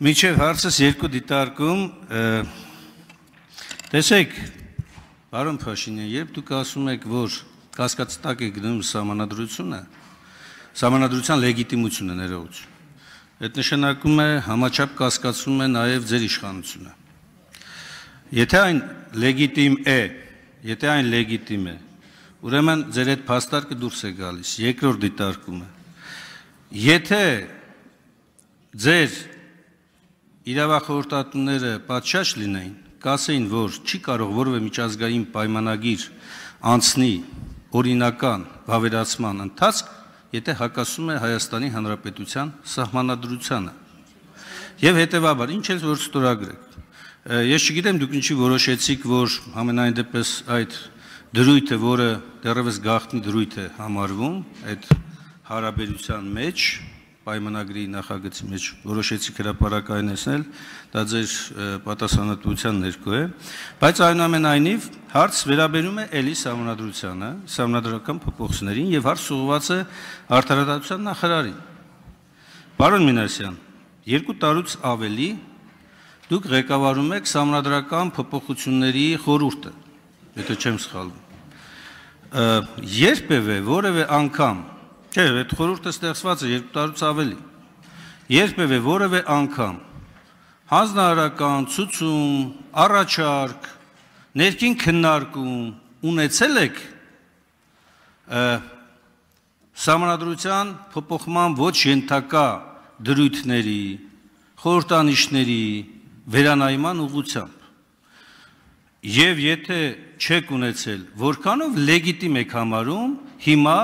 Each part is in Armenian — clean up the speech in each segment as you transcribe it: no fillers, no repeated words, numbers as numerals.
Միջև հարցս երկու դիտարկում, տեսեք, պարոն Փաշինյան, երբ դուք ասում եք, որ կասկածի տակ է գնում սահմանադրությունը, սահմանադրության լեգիտիմությունը ներողություն, այդ նշանակում է համաչափ կասկածում է նաև ձեր իշխանությունը։ Եթե այն լեգիտիմ է, ուրեմն ձեր այդ փաստարկը դուրս է գալիս, երկրորդ դիտարկումը։ Եթե ձեր իրավախորհրդատուները պատշաճ լինեին, կասեին, որ չի կարող որևէ միջազգային պայմանագիր անցնի օրինական վավերացման ընթացք, եթե հակասում է Հայաստանի Հանրապետության սահմանադրությանը։ Եվ հետևաբար, ինչ էլ որ ստորագրեք։ Ես չգիտեմ դուք ինչի որոշեցիք, որ համենայն դեպս այդ դրույթը, որը դեռևս գաղտնի դրույթ է համարվում, այդ հարաբերության մեջ, պայմանագրի նախագծի մեջ որոշեցիք հրապարակայնեցնել, դա ձեր պատասխանատվության ներքո է, բայց այնուամենայնիվ հարց վերաբերում է էլի սահմանադրությանը, սահմանադրական փոփոխություններին եւ հարց ուղղված է արդարադատության նախարարին։ Պարոն Մինասյան, 2 տարուց ավելի դուք ղեկավարում եք սահմանադրական փոփոխությունների խորհուրդը, եթե չեմ սխալվում։ Երբևէ որևէ անգամ, չէ, այդ խորհուրդը ստեղծված է 2 տարուց ավելի, երբևէ որևէ անգամ հանձնարարական, ցուցում, առաջարկ, ներքին քննարկում ունեցել եք սահմանադրության փոփոխման ոչ ենթակա դրույթների, խորհրդանիշների վերանայման ուղղությամբ։ Եվ եթե չեք ունեցել, որքանով լեգիտիմ եք համարում հիմա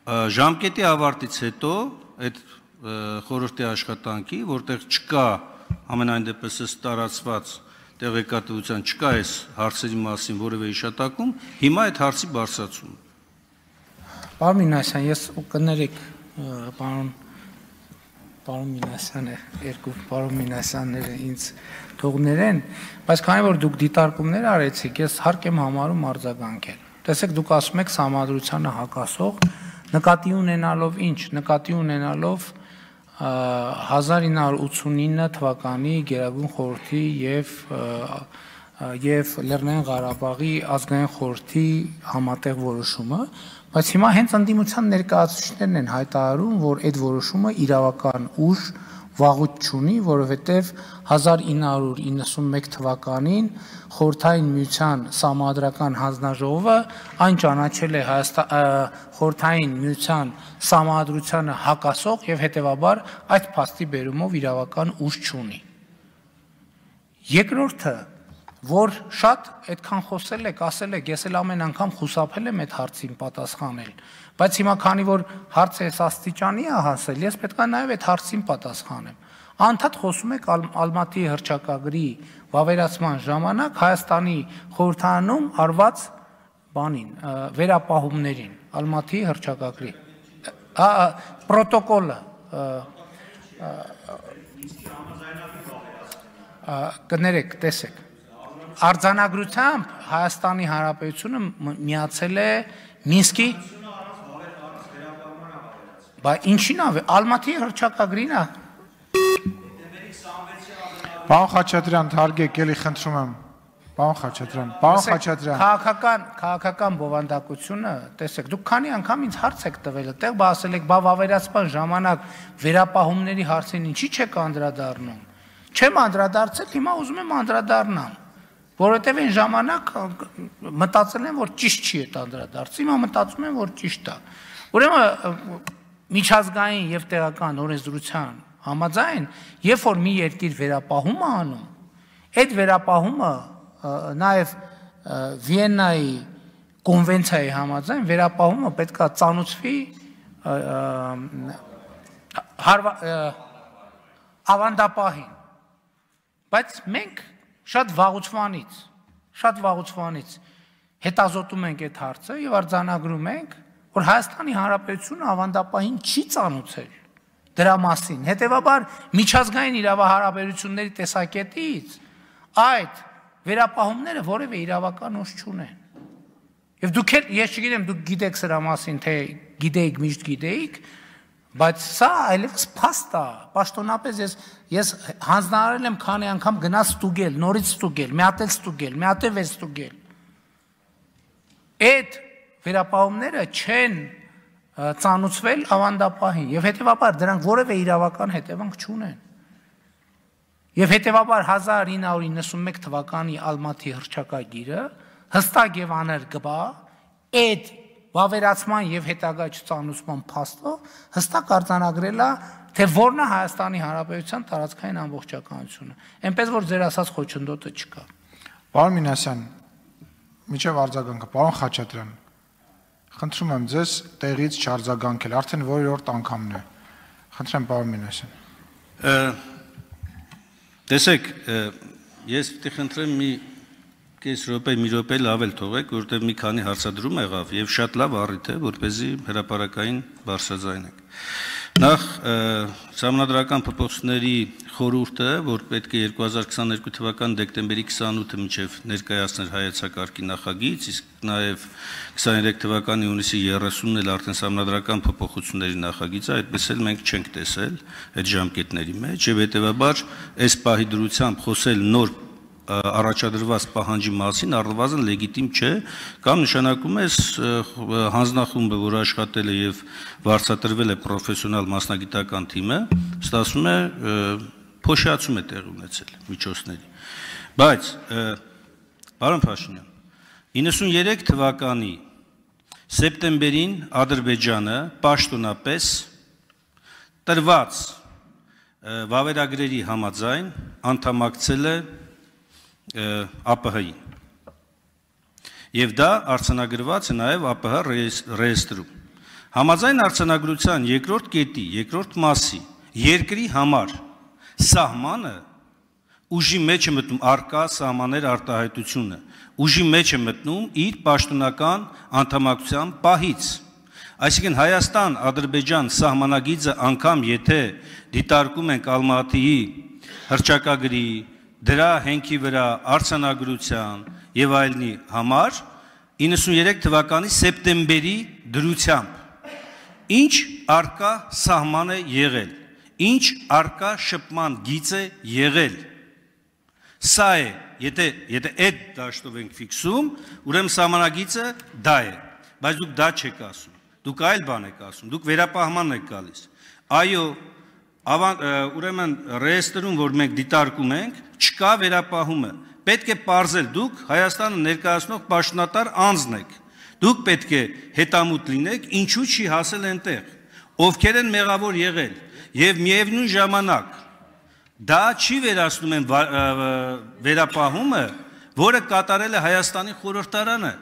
ժամկետի ավարտից հետո այդ խորհրդի աշխատանքի, որտեղ չկա ամենայն դեպս տարածված տեղեկատվության, չկա այս հարցերի մասին որևէ հիշատակում, հիմա այդ հարցի բարձրացում։ Պարոն Մինասյան, ես կներեք պարոն Մինասյանը, երկու պարոն Մինասյանները ինձ թողներ են, բայց քանի որ դուք դիտարկումներ արեցիք, ես հարկ եմ համարում արձագանքել։ Տեսեք, դուք ասում եք սահմանադրությանը հակասող, նկատի ունենալով ինչ, նկատի ունենալով 1989 թվականի Գերագույն խորհրդի եւ Լեռնային Ղարաբաղի ազգային խորհրդի համատեղ որոշումը, բայց հիմա հենց ընդդիմության ներկայացուցիչներն են հայտարարում, որ այդ որոշումը իրավական ուժ վաղուց չունի, որովհետև 1991 թվականին Խորհրդային Միության Սահմանադրական հանձնաժողովը այն ճանաչել է Խորհրդային Միության Սահմանադրությանը հակասող եւ հետեւաբար այդ փաստի բերումով իրավական ուժ չունի։ Երկրորդը, որ շատ այդքան խոսել եք, ասել եք, ես էլ ամեն անգամ խուսափել եմ այդ հարցին պատասխանել, բայց հիմա քանի որ հարցը այս աստիճանի է հասել, ես պետք է նաև այդ հարցին պատասխանեմ։ Անդադ խոսում եք Ալմատի հռչակագրի վավերացման ժամանակ Հայաստանի խորհրդարանում արված բանին, վերապահումներին, Ալմատի հռչակագրի պրոտոկոլը կներեք, տեսեք, արձանագրությամբ Հայաստանի Հանրապետությունը միացել է Մինսկի, բայց ինչին է, Ալմատի հռչակագրին է։ Պարոն Խաչատրյան, թարգեք, էլի խնդրում եմ։ Պարոն Խաչատրյան։ Քաղաքական բովանդակությունը, տեսեք, դուք քանի անգամ ինձ հարց եք տվել, այդտեղ բա ասել եք, բա վավերացման ժամանակ վերապահումների հարցին ինչի չեք անդրադառնում։ Չեմ անդրադարձել, հիմա ուզում եմ անդրադառնամ, որովհետև այն ժամանակ մտածել եմ, որ ճիշտ չի այդ անդրադարձը, հիմա մտածում եմ, որ ճիշտ է։ Ուրեմն միջազգային եւ տեղական օրենսդրության համաձայն, երբ որ մի երկիր վերապահում է անում, այդ վերապահումը նաև Վիեննայի կոնվենցիայի համաձայն վերապահումը պետք է ծանուցվի ավանդապահին, բայց մենք շատ վաղուց հետազոտում ենք այդ հարցը եւ արձանագրում ենք, որ Հայաստանի Հանրապետությունը ավանդապահին չի ծանուցել դրա մասին, հետեւաբար միջազգային իրավահարաբերությունների տեսակետից այդ վերապահումները որևէ իրավական ուժ չունեն։ Եվ դուք էլ, ես չգիտեմ, դուք գիտեք սրա մասին, թե գիտեիք, միշտ գիտեիք, Բայց սա այլևս փաստ է, պաշտոնապես ես հանձնարարել եմ քանի անգամ գնաց ստուգել, նորից ստուգել, մի հատ էլ ստուգել, մի հատ էլ ստուգել։ Այդ վերապահումները չեն ծանուցվել ավանդապահին եւ հետեւաբար դրանք որևէ իրավական հետևանք չունեն։ Եվ հետեւաբար 1991 թվականի Ալմատի հռչակագիրը հստակ եւ աներկբա այդ վավերացման եւ հետագա չծանուցման փաստով հստակ արձանագրել է թե որն է Հայաստանի Հանրապետության տարածքային ամբողջականությունը։ Էնպես որ ձեր ասած խոչընդոտը չկա։ Պարոն Մինասյան, միջև արձագանքը, պարոն Խաչատրյան, խնդրում եմ ձեզ տեղից չարձագանքել, արդեն որերորդ անգամն է։ Խնդրեմ, պարոն Մինասյան։ Տեսեք, ես պիտի խնդրեմ մի կես րոպե, մի րոպե լավ էլ թողեք, որտեղ մի քանի հարցադրում եղավ եւ շատ լավ առիթ է, որպեսզի հրապարակային բարձրաձայնենք։ Նախ Սահմանադրական փոփոխությունների խորհուրդը, որ պետք է 2022 թվականի դեկտեմբերի 28-ը մինչև ներկայացներ հայեցակարգի նախագիծ, իսկ նաև 23 թվականի հունիսի 30-ն էլ արդեն Սահմանադրական փոփոխությունների նախագիծը, այդպես էլ մենք չենք տեսել այդ ժամկետների մեջ, եւ հետեւաբար այս պահի դրությամբ խոսել նոր առաջադրված պահանջի մասին առնվազն լեգիտիմ չէ, կամ նշանակում է հանձնախումբը, որ աշխատել է եւ վարձատրվել է պրոֆեսիոնալ մասնագիտական թիմը, ստացվում է փոշիացում է տեղ ունեցել միջոցների։ Բայց պարոն Փաշինյան, 93 թվականի սեպտեմբերին Ադրբեջանը պաշտոնապես տրված վավերագրերի համաձայն անդամակցել է ԱՊՀ-ին։ Եվ դա արձանագրված է նաև ԱՊՀ ռեեստրում։ Համաձայն արձանագրության երկրորդ կետի, երկրորդ մասի երկրի համար սահմանը ուժի մեջ է մտնում արկա սահմաններ արտահայտությունը, ուժի մեջ է մտնում իր պաշտոնական անդամակցության պահից։ Այսինքն Հայաստան-Ադրբեջան սահմանագիծը անգամ եթե դիտարկում ենք Ալմատիի հռչակագրի, դրա հենքի վրա արձանագրության եւ այլնի համար 93 թվականի սեպտեմբերի դրությամբ ինչ արկա սահման է եղել, ինչ արկա շփման գիծ է եղել։ Սա է, եթե այդ դաշտով ենք ֆիքսում, ուրեմն սահմանագիծը դա է, բայց դուք դա չեք ասում, դուք այլ բան եք ասում, դուք վերապահմանն եք գալիս։ Այո, ուրեմն ռեեստրում, որ մենք դիտարկում ենք, չկա վերապահումը, պետք է պարզել դուք Հայաստանը ներկայացնող պաշտոնատար անձն եք, դուք պետք է հետամուտ լինեք, ինչու չի հասել այնտեղ, ովքեր են մեղավոր եղել, եւ միևնույն ժամանակ դա չի վերացնում են վերապահումը, որը կատարել է Հայաստանի խորհրդարանը,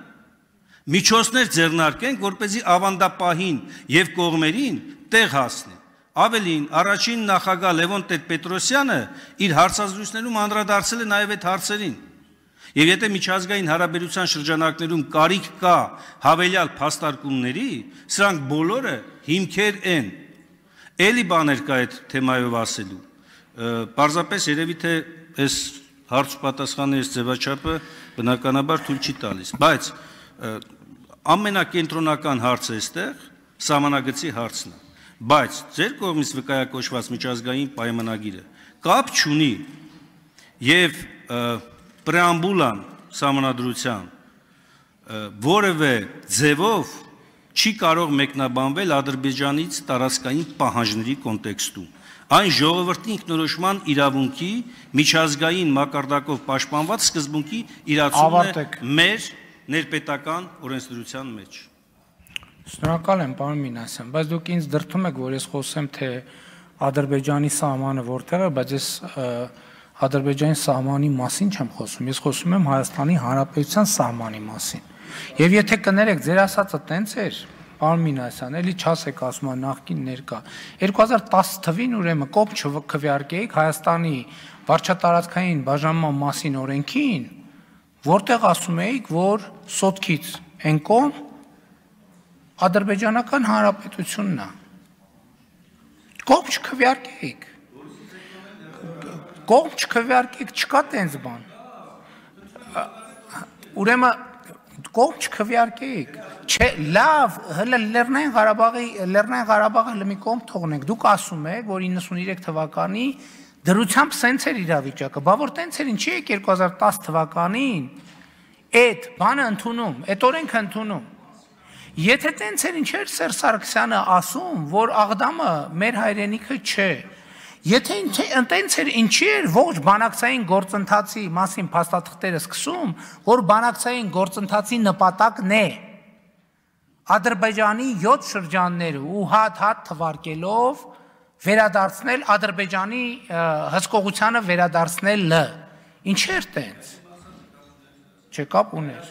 միջոցներ ձեռնարկենք, որպեսզի ավանդապահին եւ կողմերին տեղ հասնի։ Ավելին, առաջին նախագահ Լևոն Տեր-Պետրոսյանը իր հարցազրույցներում անդրադարձել է նաև այդ հարցերին։ Եվ եթե միջազգային հարաբերության շրջանակներում կարիք կա հավելյալ փաստարկումների, սրանք բոլորը հիմքեր են։ Էլի բաներ կա այդ թեմայով ասելու։ Պարզապես երևի թե այս հարց-պատասխանի այս ձևաչափը բնականաբար թույլ չի տալիս, բայց ամենակենտրոնական հարցը այստեղ սահմանագծի հարցն է։ Բայց ձեր կողմից վկայակոչված միջազգային պայմանագիրը կապ չունի եւ պրեամբուլան սահմանադրության որևէ ձևով չի կարող մեկնաբանվել Ադրբեջանից տարածքային պահանջների կոնտեքստում։ Այն ժողովրդի ինքնորոշման իրավունքի միջազգային մակարդակով պաշտպանված սկզբունքի իրացումն է մեր ներպետական օրենսդրության մեջ։ Շնորհակալ եմ, պարոն Մինասյան, բայց դուք ինձ դրդում եք, որ ես խոսեմ, թե Ադրբեջանի սահմանը որտեղ է, բայց ես Ադրբեջանի սահմանի մասին չեմ խոսում, ես խոսում եմ Հայաստանի Հանրապետության սահմանի մասին։ Եվ եթե կներեք, ձեր ասածը տենց էր, պարոն Մինասյան, էլի չասեք ասում եմ նախկին ներկա։ 2010 թվին ուրեմն կոպ չքվեարկեիք Հայաստանի վարչատարածքային բաժանման մասին օրենքին, որտեղ ասում էիք, որ սոտքից են կողմ Ադրբեջանական Հանրապետությունն է։ Կողմ չքվեարկեիք։ Կողմ չքվեարկեիք, չկա տենց բան։ Ուրեմն կողմ չքվեարկեիք։ Չէ, լավ, հələ Լեռնային Ղարաբաղը հələ մի կողմ թողնենք։ Դուք ասում եք, որ 93 թվականի դրությամբ սենց էր իրավիճակը, բա որ տենց էր, ինչի եք 2010 թվականին այդ բանը ընդունում, այդ օրենքը ընդունում։ Եթե տենց էր, ինչ էր Սերժ Սարգսյանը ասում, որ Աղդամը մեր հայրենիքը չէ։ Եթե տենց էր, ինչի էր ողջ բանակցային գործընթացի մասին փաստաթղթերը սկսում, որ բանակցային գործընթացի նպատակն է Ադրբեջանի 7 շրջանները ու հատ թվարկելով վերադարձնել Ադրբեջանի հսկողությանը վերադարձնելը։ Ինչ էր տենց։ Չէ, կապ ուներ։